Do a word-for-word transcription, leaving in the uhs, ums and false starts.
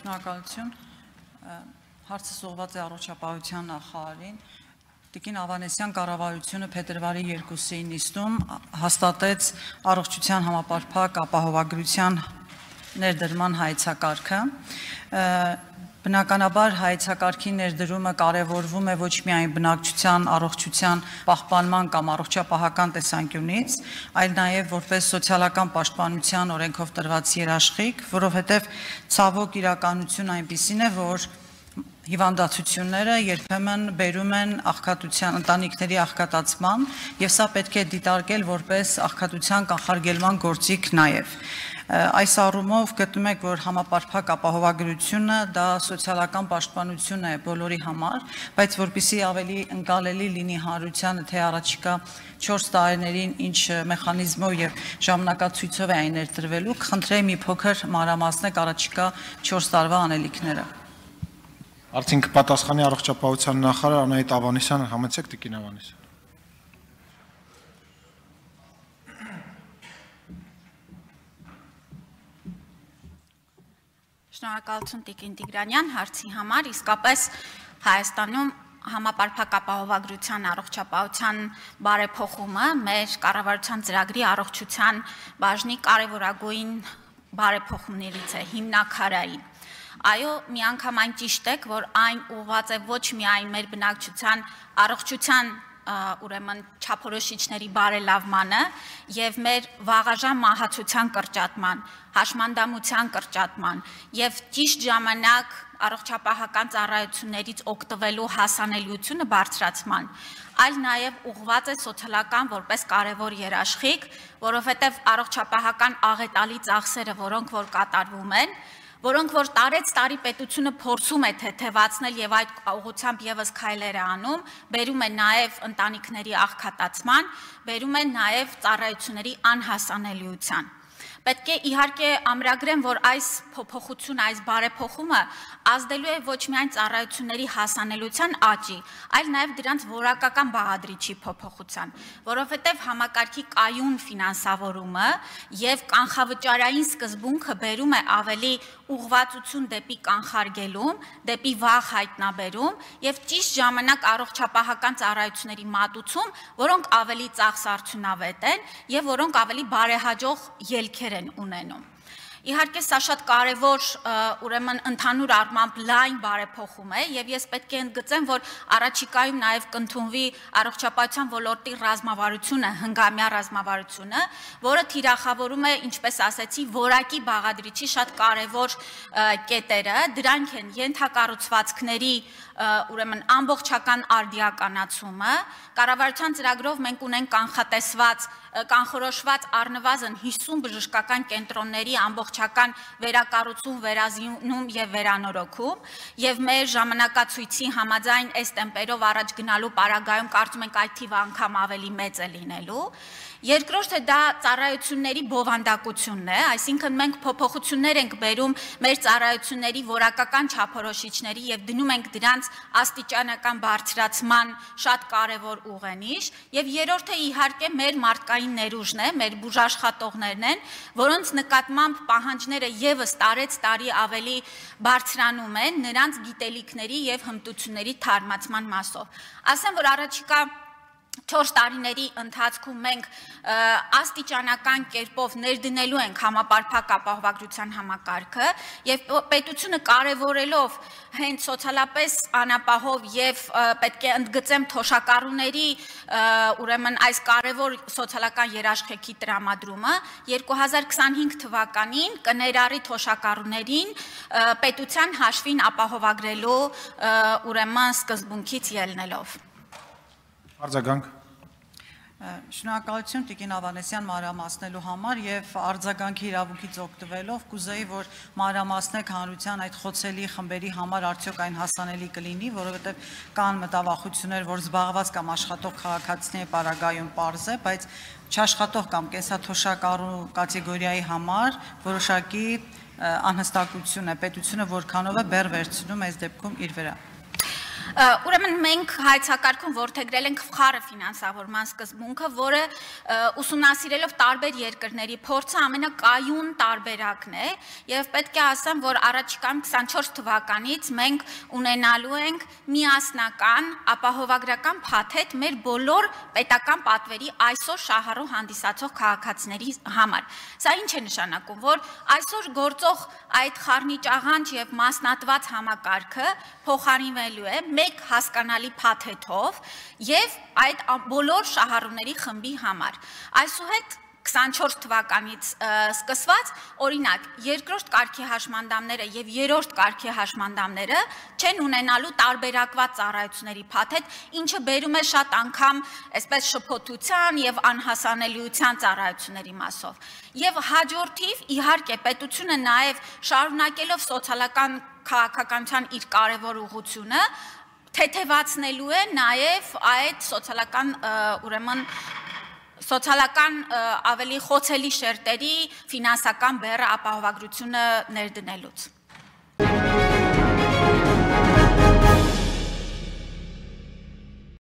Շնորհակալություն, հարցս ուղղված է առողջապահության նախարարին։ Տիկին Ավանեսյան կառավարությունը փետրվարի երկուսին նիստում հաստատեց առողջության համապարփակ ապահովագրության ներդրման հայեցակարգը։ Բնականաբար հայեցակարգի ներդրումը կարևորվում է ոչ միայն բնակչության առողջության պահպանման կամ առողջապահական տեսանկյունից, այլ նաև որպես սոցիալական պաշտպանության օրենքով տրված երաշխիք, որովհետև ցավոք իրականություն այնպիսին է, որ հիվանդացությունները երբեմն բերում են աղքատության, ընտանիքների աղքատացման, եւ սա պետք է դիտարկել որպես աղքատության կանխարգելման գործիք նաև։ Այս առումով գտնում եք, որ համապարփակ ապահովագրությունը դա սոցիալական պաշտպանություն է բոլորի համար, բայց որպեսզի ավելի ընկալելի լինի հանրությանը, թե առաջիկա չորս տարիներին ինչ մեխանիզմով եւ ժամանակացույցով է այն ներդրվելու, կխնդրեի մի փոքր մանրամասնեք առաջիկա չորս տարվա անելիքները։ Արդյոք պատասխանի առողջապահության նախարար Անահիտ Ավանեսյանը, համեցեք տիկին Ավանեսյան։ Շնորհակալություն տիկին Տիգրանյան, հարցի համար, իսկապես Հայաստանում համապարփակ ապահովագրության առողջապահության բարեփոխումը մեր կառավարության ծրագրի առողջության բաժնի կարևորագույն բարեփոխումներից է, հիմնաքարային։ Այո, միանգամայն ճիշտ եք, որ այն ուղղված է ոչ միայն մեր բնակչության առողջության ուրեմն չափորոշիչների բարելավմանը եւ մեր վաղաժամ մահացության կրճատման, հաշմանդամության կրճատման եւ ճիշտ ժամանակ առողջապահական ծառայություններից օգտվելու հասանելիությունը բարձրացման, այլ նաեւ ուղղված է սոցիալական որպես կարևոր երաշխիք, որովհետեւ առողջապահական աղետալի ծախսերը, որոնք որ կատարվում են, որոնք որ տարեց տարի պետությունը փորձում է թեթևացնել եւ այդ ուղղությամբ եւս քայլեր է անում, բերում է նաեւ ընտանիքների աղքատացման, բերում է նաեւ ծառայությունների անհասանելիության։ Պետք է իհարկե ամրագրեմ, որ այս փոփոխությունը, այս բարեփոխումը ազդելու է ոչ միայն ծառայությունների հասանելիության աճի, այլ նաև դրանց որակական բաղադրիչի փոփոխության, որովհետև համակարգի կայուն ֆինանսավորումը եւ կանխավճարային սկզբունքը բերում է ավելի ուղղվածություն դեպի կանխարգելում, դեպի վաղ հայտնաբերում եւ ճիշտ ժամանակ առողջապահական ծառայությունների մատուցում, որոնք ավելի ծախսարդյունավետ են եւ որոնք ավելի բարեհաջող ելքեր են ունենում։ Իհարկե սա շատ կարևոր ուրեմն ընդհանուր առմամբ լայն բարեփոխում է եւ ես պետք է ընդգծեմ, որ առաջիկայում նաեւ կընդունվի առողջապահության ոլորտի ռազմավարությունը, հնգամյա ռազմավարությունը, որը թիրախավորում է, ինչպես ասեցի, որակի բաղադրիչի շատ կարևոր կետերը, դրանք են ենթակառուցվածքների ուրեմն ամբողջական արդիականացումը, կառավարության ծրագրով մենք ունենք կանխատեսված, կանխորոշված առնվազն հիսուն բժշկական կենտրոնների ամբողջական վերակառուցում, վերազինում եւ վերանորոգում եւ մեր ժամանակացույցի համաձայն այս տեմպերով առաջ գնալու պարագայում կարծում ենք այդ թիվը անգամ ավելի մեծ է լինելու։ Երկրորդը դա ծառայությունների բովանդակությունն է, այսինքն մենք փոփոխություններ ենք բերում մեր ծառայությունների որակական չափորոշիչների եւ դնում ենք դրանց աստիճանական բարձրացման շատ կարևոր ուղենիշ եւ երրորդը իհարկե մեր մարդկային ներուժն է, մեր բուժաշխատողներն են, որոնց նկատմամբ պահանջները եւս տարեց տարի ավելի բարձրանում են նրանց գիտելիքների եւ հմտությունների թարմացման մասով։ Ասեմ, որ առաջիկա չորս տարիների ընթացքում մենք աստիճանական կերպով ներդնելու ենք համապարփակ ապահովագրության համակարգը եւ պետությունը կարևորելով հենց սոցիալապես անապահով եւ պետք է ընդգծեմ թոշակառուների ուրեմն այս կարևոր սոցիալական երաշխիքի տրամադրումը երկու հազար քսանհինգ թվականին կներառի թոշակառուներին պետության հաշվին ապահովագրելու ուրեմն սկզբունքից ելնելով։ Արձագանք։ Շնորհակալություն տիկին Ավանեսյան մանրամասնելու համար եւ արձագանքի իրավունքից օգտվելով կուզեի, որ մանրամասնեք հանրության այդ խոցելի խմբերի համար արդյոք այն հասանելի կլինի, որովհետեւ կան մտավախություններ, որ զբաղված կամ աշխատող քաղաքացիների պարագայում պարզ է, բայց չաշխատող կամ կենսաթոշակառու կատեգորիայի համար որոշակի անհստակություն է, պետությունը որքանով է բեռ վերցնում այս դեպքում իր վրա։ Ուրեմն մենք հայցակարգում որդեգրել ենք խառը ֆինանսավորման սկզբունքը, որը ուսումնասիրելով տարբեր երկրների փորձը ամենակայուն տարբերակն է, եւ պետք է ասեմ, որ առաջիկայում քսանչորս թվականից մենք ունենալու ենք միասնական ապահովագրական փաթեթ մեր բոլոր պետական պատվերի այսօր շահառու հանդիսացող քաղաքացիների համար։ Սա ինչ է նշանակում, որ այսօր գործող այդ խառնիճաղանճ եւ մասնատված համակարգը փոխարինվելու է մեկ հասկանալի փաթեթով եւ այդ բոլոր շահառուների խմբի համար։ Այսուհետ քսանչորս թվականից սկսված, օրինակ, երկրորդ կարգի հաշմանդամները եւ երրորդ կարգի հաշմանդամները չեն ունենալու տարբերակված ծառայությունների փաթեթ, ինչը բերում է շատ անգամ այսպես շփոթության եւ անհասանելիության ծառայությունների մասով։ Եվ հաջորդիվ, իհարկե, պետությունը նաեւ շարունակելով սոցիալական քաղաքականության իր կարևոր ուղղությունը թեթևացնելու է նաեւ այդ սոցիալական ուրեմն սոցիալական ավելի խոցելի շերտերի ֆինանսական բեռը ապահովագրությունը ներդնելուց։